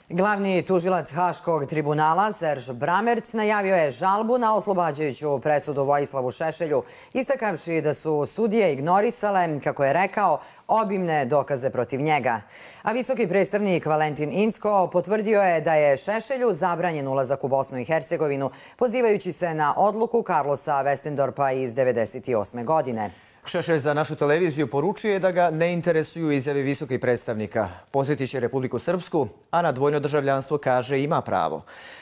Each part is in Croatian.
Glavni tužilac Haškog tribunala Serž Bramerc najavio je žalbu na oslobađajuću presudu Vojislavu Šešelju, istakavši da su sudije ignorisale, kako je rekao, obimne dokaze protiv njega. A visoki predstavnik Valentin Incko potvrdio je da je Šešelju zabranjen ulazak u Bosnu i Hercegovinu, pozivajući se na odluku Carlosa Westendorpa iz 1998. godine. Šešelj za našu televiziju poručuje da ga ne interesuju izjave visokih predstavnika. Posjetit će Republiku Srpsku, a na dvojno državljanstvo, kaže, ima pravo.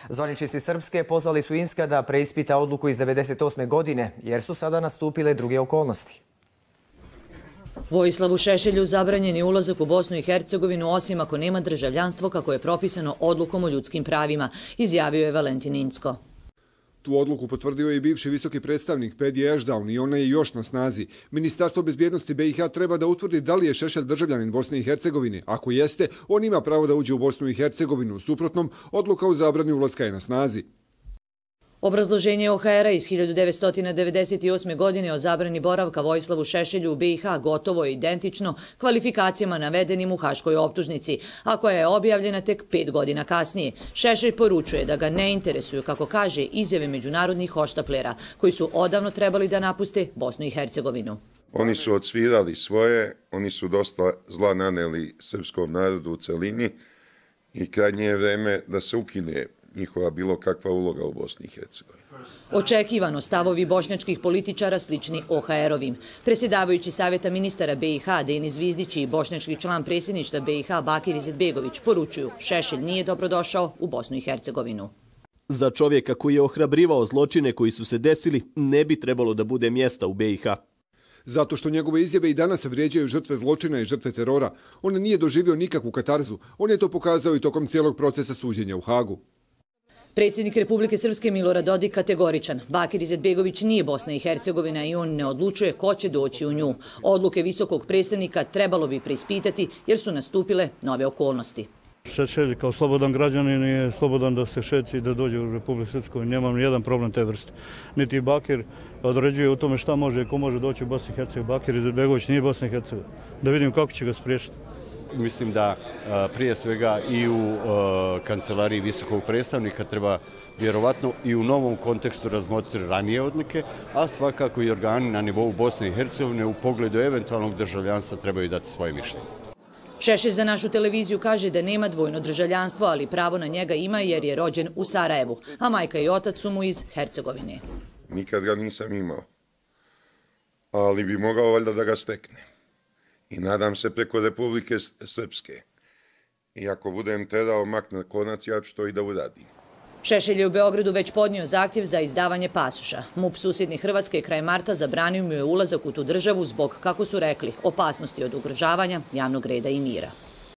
Zvaničnici Srpske pozvali su Incka da preispita odluku iz 1998. godine, jer su sada nastupile druge okolnosti. Vojislavu Šešelju zabranjen je ulazak u Bosnu i Hercegovinu osim ako nema državljanstvo kako je propisano odlukom o ljudskim pravima, izjavio je Valentin Incko. Tu odluku potvrdio je i bivši visoki predstavnik Pedi Ešdaun i ona je još na snazi. Ministarstvo bezbjednosti BiH treba da utvrdi da li je Šešelj državljanin Bosne i Hercegovine. Ako jeste, on ima pravo da uđe u Bosnu i Hercegovinu. U suprotnom, odluka o zabrani ulaska je na snazi. Obrazloženje OHR-a iz 1998. godine o zabrani boravka Vojislavu Šešelju u BiH gotovo je identično kvalifikacijama navedenim u haškoj optužnici, a koja je objavljena tek 5 godina kasnije. Šešelj poručuje da ga ne interesuju, kako kaže, izjave međunarodnih hoštaplera, koji su odavno trebali da napuste Bosnu i Hercegovinu. Oni su odsvirali svoje, oni su dosta zla naneli srpskom narodu u celini i krajnje je vreme da se ukine njihova bilo kakva uloga u Bosni i Hercegovini. Očekivano stavovi bošnjačkih političara slični OHR-ovim. Predsjedavajući Savjeta ministara BiH Denis Zvizdić i bošnjački član predsjedništva BiH Bakir Izetbegović poručuju: Šešelj nije dobrodošao u Bosnu i Hercegovinu. Za čovjeka koji je ohrabrivao zločine koji su se desili, ne bi trebalo da bude mjesta u BiH. Zato što njegove izjave i danas vrijeđaju žrtve zločina i žrtve terora. On nije doživio nikakvu katarzu. On je to pokazao i tokom cijelog procesa suđenja u Hagu. Predsjednik Republike Srpske Milorad Dodik kategoričan. Bakir Izetbegović nije Bosna i Hercegovina i on ne odlučuje ko će doći u nju. Odluke visokog predstavnika trebalo bi preispitati jer su nastupile nove okolnosti. Šešelj kao slobodan građanin je slobodan da se šeći i da dođe u Republiku Srpsku. Nemam nijedan problem te vrste. Niti Bakir određuje u tome šta može i ko može doći u Bosnu i Hercegovinu. Bakir Izetbegović nije Bosna i Hercegovina. Da vidim kako će ga spriječiti. Mislim da prije svega i u kancelariji visokog predstavnika treba vjerovatno i u novom kontekstu razmotriti ranije odluke, a svakako i organi na nivou Bosne i Hercegovine u pogledu eventualnog državljanstva trebaju dati svoje mišljenje. Šešelj za našu televiziju kaže da nema dvojno državljanstvo, ali pravo na njega ima jer je rođen u Sarajevu, a majka i otac su mu iz Hercegovine. Nikad ga nisam imao, ali bi mogao valjda da ga steknem. I nadam se preko Republike Srpske. I ako budem terao mak na konac, ja ću to i da uradim. Šešelj je u Beogradu već podnio zahtjev za izdavanje pasoša. MUP susjedne Hrvatske kraj marta zabranio mu je ulazak u tu državu zbog, kako su rekli, opasnosti od ugrožavanja javnog reda i mira.